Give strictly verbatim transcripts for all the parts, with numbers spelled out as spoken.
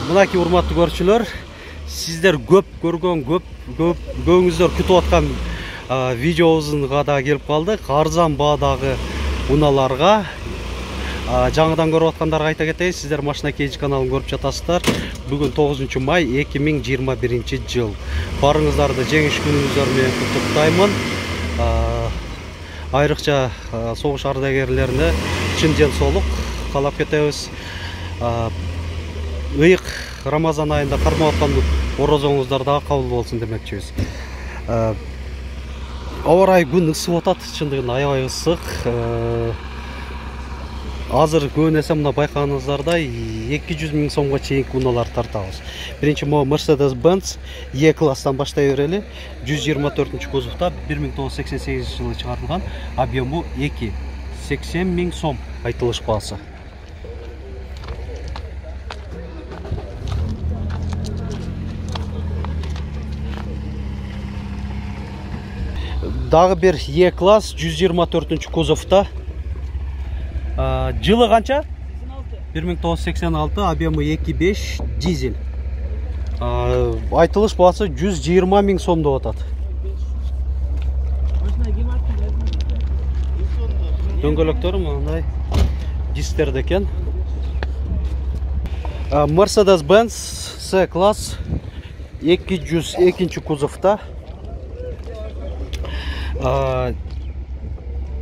Мынакей урматтуу көрүүчүлөр, сиздер көп көргөн, көп көп көңүздөр күтүп аткан видеобузга да келип калдык. Арзан баадагы унааларга жаңыдан көрүп аткандарга айта кетейин, сиздер Машина Кейж каналын көрүп жатасыздар. Бүгүн тогузунчу май эки миң жыйырма биринчи жыл. Барыңыздарды жеңиш күнүңүздөр менен куттуктаймын. Айрыкча согуш ардагерлерине чын ден соолук каалап кетебиз. Ыйык Рамазан айында кармап аткан орозоңуздар дагы кабыл болсун демекчибиз. Аба ырайы күн ысып атат, чындыгында аябай ысык. Азыр көбүнесе мына байкаганыңыздардай эки жүз миң сомго чейинки унаалар тартабыз. Биринчи могу Mercedes-Benz E класстан баштай берели. жүз жыйырма төртүнчү кузовда бир миң тогуз жүз сексен сегизинчи жылы чыгарылган, объему эки сексен миң сом айтылыш баасы. Дагы бир E класс жүз жыйырма төртүнчү кузовда. Жылы канча? бир миң тогуз жүз сексен алты, объему эки беш, дизель. Айтылыш баасы жүз жыйырма миң сом деп атат. Дөңгөлөктөрү мындай дистерде экен. Mercedes-Benz C класс эки жүз экинчи кузовда.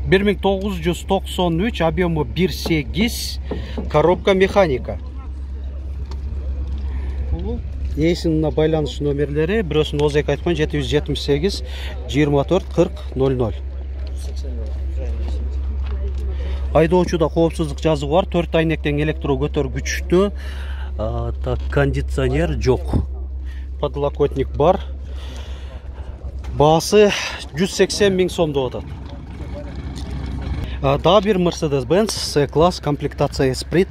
бир миң тогуз жүз токсон үч, объему бир сегиз, коробка механика. Эсинин байланыш номерлери, бирөөсүн озек айткан жети жүз жетимиш сегиз, жыйырма төрт, кырк, ноль ноль. Айдоочуда коопсуздук жазыгы бар, төрт айнектен электро көтөргүчтүү, так, кондиционер жок. Подлокотник бар. Баасы жүз сексен миң сом деп атат. Дагы бир Mercedes-Benz C класс, комплектация Esprit.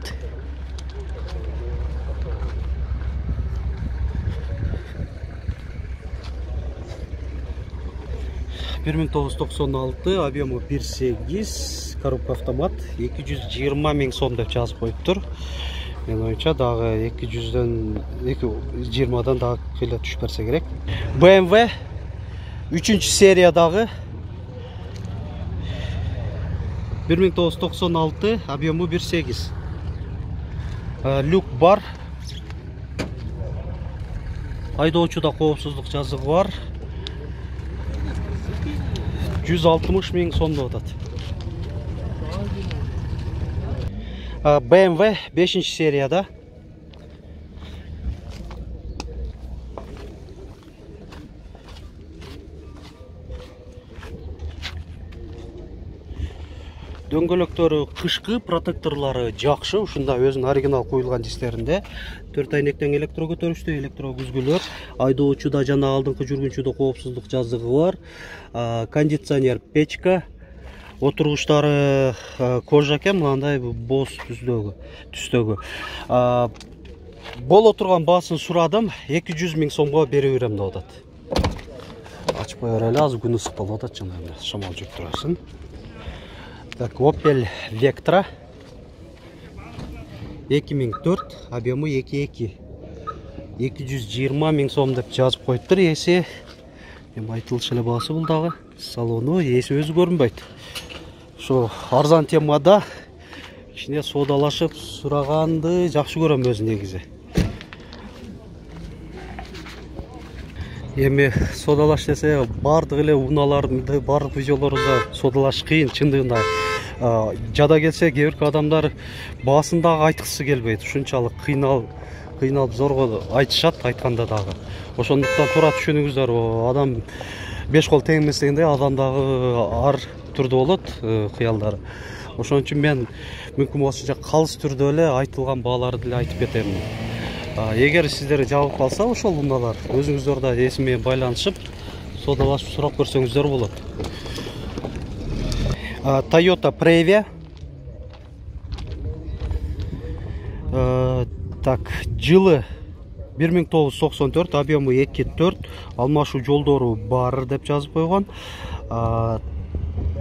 бир миң тогуз жүз токсон алты, объему бир сегиз, коробка автомат, эки жүз жыйырма миң сом деп жазып коюптур. Мен оюнча дагы эки жүздөн, эки жүз жыйырмадан дагы кыйла түшүп берсе керек. бэ эм вэ үчүнчү сериядагы бир миң тогуз жүз токсон алты, объему бир сегиз. Люк бар. Айдоочуда коопсуздук жазыгы бар. жүз алтымыш миң сом деп атат. бэ эм вэ бешинчи серияда. Дөңгөлөктөрү кышкы, протекторлору жакшы, ушунда өзүнүн оригинал коюлган дистеринде. төрт айнектен электро көтөрүштүү, электро күзгүлөр, айдоочуда жана алдыңкы жүргүнчүдө коопсуздук жазыгы бар. Кондиционер печка, отургучтары кожа экен, мындай боз түздөгү, түстөгү. Боло турган баасын сурадым, эки жүз миң сомго бере берем деп атат. Ачпай берели, азыр күн ысык болуп атат, жана шамал жүрүп турасың. Так, Opel Vectra эки миң төрт, объему эки эки, эки жүз жыйырма миң сом деп жазып коюптур. Эси эми айтылыш эле баасы бул дагы. Салону эси өзү көрүнбөйт. Ошо арзан темада кичине соодалашып сураганды жакшы көрөм өзү негизи. Эми соодалаш десе, бардык эле унааларды, бардык видеолорубузда соодалаш кыйын, чындыгында. Жада келсе, кээ бир адамдар баасын дагы айткысы келбейт. Ушунчалык кыйналып, кыйналып зорго айтышат, айтканда дагы. Ошондуктан туура түшүнүңүздөр, адам беш кол тең эмес дегендей, адам дагы ар түрдө болот кыялдары. Ошон үчүн мен мүмкүн болсонча калыс түрдө эле айтылган бааларды эле айтып кетем. Эгер сиздер жабып калса ошол унаалар, өзүңүздөр да эси менен байланышып, соодалашып сурап көрсөңүздөр болот. Toyota Previa. Так, жылы бир миң тогуз жүз токсон төрт, объему эки төрт, алмашуу жолдору бар деп жазып койгон.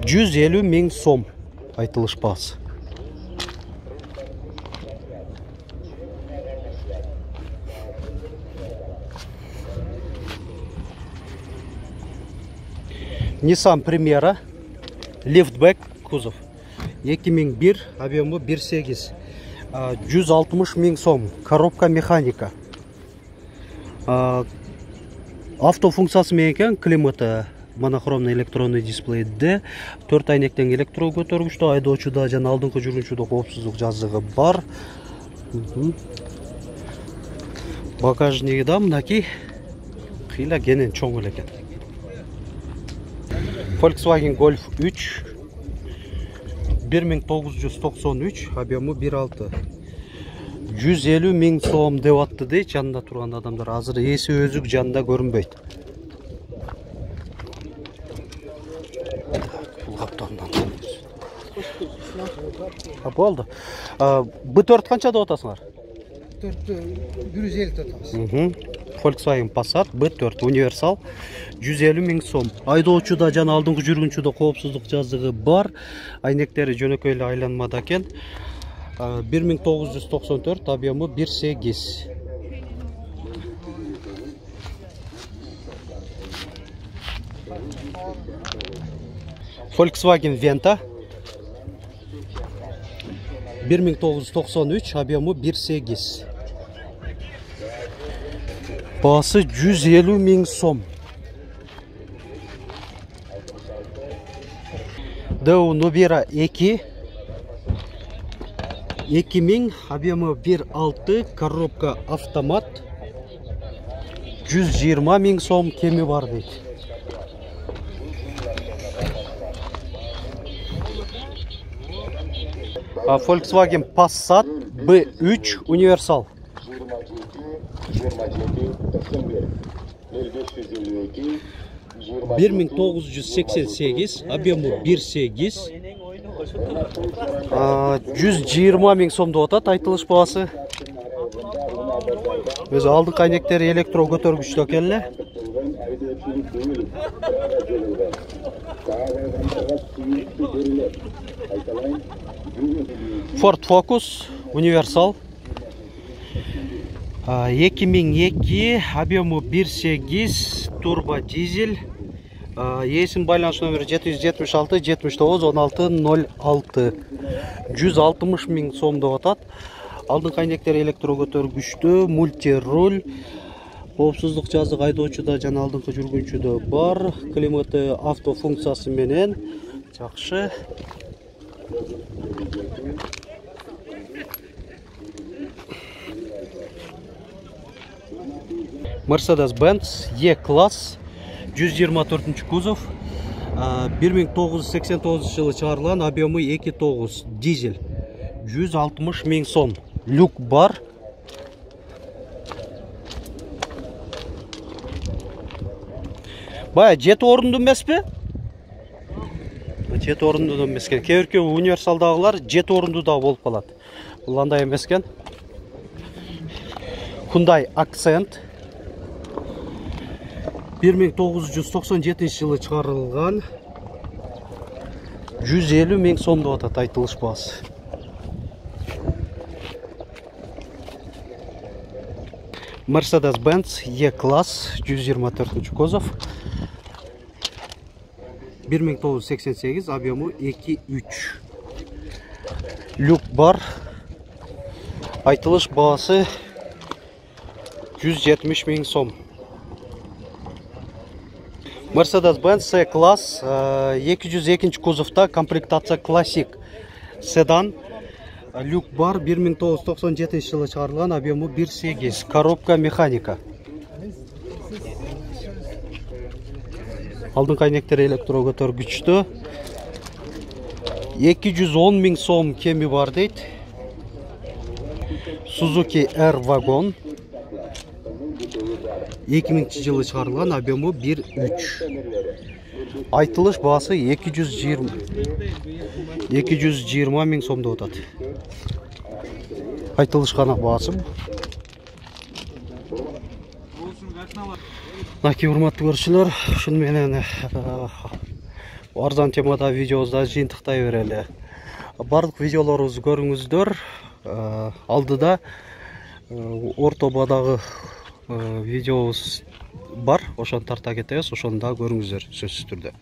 жүз элүү миң сом айтылыш баасы. Nissan Primera liftback кузов эки миң бир, объемы бир сегиз, жүз алтымыш миң сом, коробка механика. Автофункциясы менен экен, климаты монохромный электронный дисплейде, төрт айнектен электро көтөргүчтө, айдоочуда жана алдыңкы жүргүнчүдө коопсуздук жазыгы бар. Багажниги да мынакей кыйла кенен чоң эле экен. Volkswagen Golf үч бир миң тогуз жүз токсон үч, объемы бир алты, жүз элүү миң сом деп атты дейт жанында турган адамдар. Азыр эси өзүк жанында көрүнбөйт. Бул каптандан. Болду. бэ төрт канча деп атасыңар? бир жүз элүү деп атабыз. Volkswagen Passat бэ төрт универсал жүз элүү миң сом. Айдоочуда жана алдыңкы жүргүнчүдө коопсуздук жазыгы бар. Айнектери жөнөкөй эле айланмада экен. бир миң тогуз жүз токсон төрт, объемы бир сегиз. Volkswagen Venta бир миң тогуз жүз токсон үч, объемы бир сегиз. Басы жүз элүү миң сом. Дэу Nubera эки эки миң, объемы бир алты, коробка автомат, жүз жыйырма миң сом кеми бар дейт. Volkswagen Passat бэ үч универсал бир миң тогуз жүз сексен сегиз, объемы бир сегиз, жүз жыйырма миң сом деп атат айтылыш баасы. Өзү алдыңкы айнектери электро көтөргүчтө экен эле. Ford Focus универсал эки миң эки, объемы бир сегиз, турбо дизель. Эсин байланыш номери жети жүз жетимиш алты жетимиш тогуз он алты ноль алты, жүз алтымыш миң сом деп атат. Алдыңкы айнектери электро көтөргүчтө, мультируль, коопсуздук жазыгы айдоочуда жана алдыңкы жүргүнчүдө бар. Климаты автофункциясы менен жакшы. Mercedes-Benz E-класс жүз жыйырма төртүнчү кузов, бир миң тогуз жүз сексен тогузунчу жылы чыгарылган, объемы эки тогуз, дизель, жүз алтымыш миң сом. Люк бар. Бая жети орунду эмеспи? жети орунду да эмес экен. Кээ-бирки универсалдагылар жети орунду да болуп калат. Бул андай эмес экен. Hyundai Accent бир миң тогуз жүз токсон жетинчи жылы чыгарылган, жүз элүү миң сом деп атат айтылыш баасы. Mercedes-Benz E-класс жүз жыйырма төртүнчү кузов, бир миң тогуз жүз сексен сегиз, объемы эки үч. Люк бар. Айтылыш баасы жүз жетимиш миң сом. Mercedes-Benz C-класс эки жүз экинчи кузовта, комплектация классик седан. Люк бар, бир миң тогуз жүз токсон жетинчи жылы чыгарылган, объемы бир сегиз, коробка механика. Алдыңкы айнектери электро көтөргүчтө, эки жүз он миң сом кеми бар дейт. Suzuki R-Wagon эки миңинчи жылы чыгарылган, объемы бир үч. Айтылыш баасы эки жүз жыйырма миң сом деп атат. Айтылыш гана баасы. Наки урматтуу көрүүчүлөр, ушуну менен арзан темада видеобузду жыйынтыктай берели. Бардык видеолорубузду көрүңүздөр. Алдыда орто баадагы видеобуз бар, ошону тарта кетебиз, ошону дагы көрүңүздөр сөзсүз түрдө.